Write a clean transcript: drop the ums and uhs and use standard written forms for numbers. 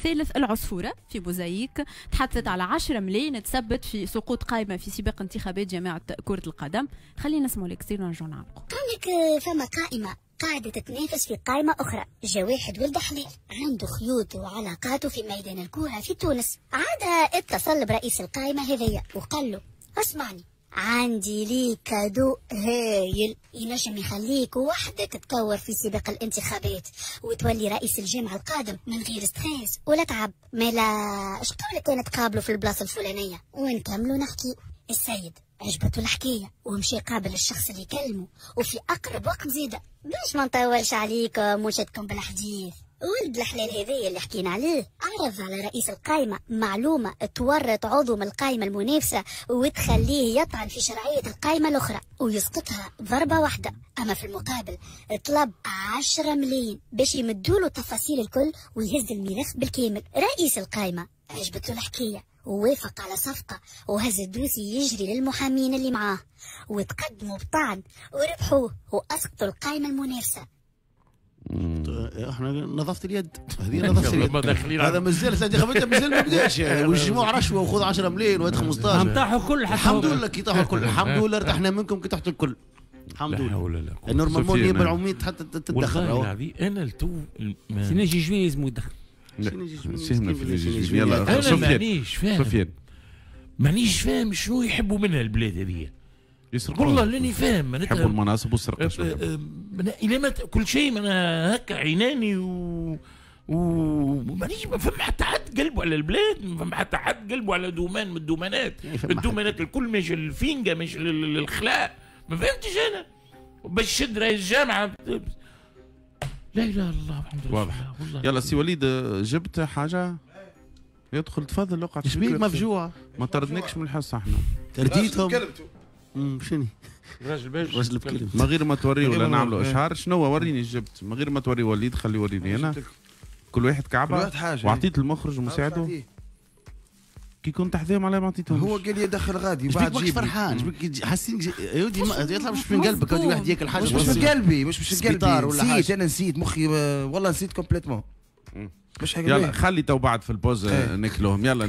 ثالث العصفوره في موزايك، تحدثت على 10 ملايين تسبت في سقوط قائمة في سباق انتخابات جامعه كره القدم. خلينا نسمعوا l'extrait ونرجعوا نعلقوا. قال لك فما قائمة قاعدة تتنافس في قائمة أخرى، جا واحد ولد حلال عنده خيوط وعلاقاته في ميدان الكورة في تونس، عاد اتصل برئيس القائمة هذيا وقال له اسمعني، عندي ليك cadeau هايل ينجم يخليك وحدك تكور في سباق الانتخابات وتولي رئيس الجامعة القادم من غير stress ولا تعب، مالا اش قولك كان تقابلوا في البلاصة الفلانية ونكملوا نحكي. السيد عجبته الحكاية ومشي قابل الشخص اللي كلمة وفي أقرب وقت زيادة. باش ما نطولش عليكم وشدكم بالحديث، ولد الحلال هذايا اللي حكينا عليه عرض على رئيس القائمة معلومة تورط عضو من القائمة المنافسة وتخليه يطعن في شرعية القائمة الأخرى ويسقطها ضربة واحدة. أما في المقابل طلب 10 ملايين باش يمدوله التفاصيل الكل ويهز الملف بالكامل. رئيس القائمة عجبته الحكاية ووافق على صفقة وهز ال dossier يجري للمحامين اللي معاه وتقدموا بطعن وربحوه وأسقطوا القائمة المنافسة. احنا نظافة اليد، هذه نظافة اليد، هذا مازال الانتخابات مازال ما بداش يعني، والجموع رشوة وخذ 10 ملايين وهات 15. طاحوا الكل، الحمد لله كي طاحوا الكل، الحمد لله ارتحنا منكم كي طاحتوا الكل، الحمد لله. normalement النيابة العمومية حتى تتدخل. والله العظيم انا التو سي ناجي جويني لازم يدخل. يلا انا مانيش فاهم، سفيان مانيش فاهم شنو يحبوا منها البلاد هذه. والله لاني فاهم، يحبوا المناصب والسرقة. الى ما كل شيء انا هكا عيناني و مانيش ما فما حتى حد قلبه على البلاد، ما فما حتى حد قلبه على domaine من الدومانات، الدومانات الكل ماشي للفينجا ماشي للخلاء، ما فهمتش انا باش شد رئيس الجامعة. لا اله الا الله محمد رسول الله. يلا سي وليد جبت حاجة؟ يدخل تفضل اقعد. شبيك مفجوع؟ ما طردناكش من الحصة احنا. ترديتهم. شنو؟ راجل باش راجل بكلمة. من غير ما توري ولا نعملوا اشهار، شنو وريني جبت؟ من غير ما توري وليد خلي يوريني انا. كل واحد كعبه، كل واحد حاجة. وعطيت المخرج ومساعدة. كي كنت حذاهم على ما عطيتهمش. هو قال لي دخل غادي وبعد جيب. فرحان شبيك حاسين يا ودي يطلع مش من قلبك، يا واحد ياكل حاجة مش من قلبي، مش من قلبي، نسيت انا، نسيت مخي والله نسيت complètement. مش حاجة. يلا خلي تو بعد في ال pause ناكلوهم. يلا.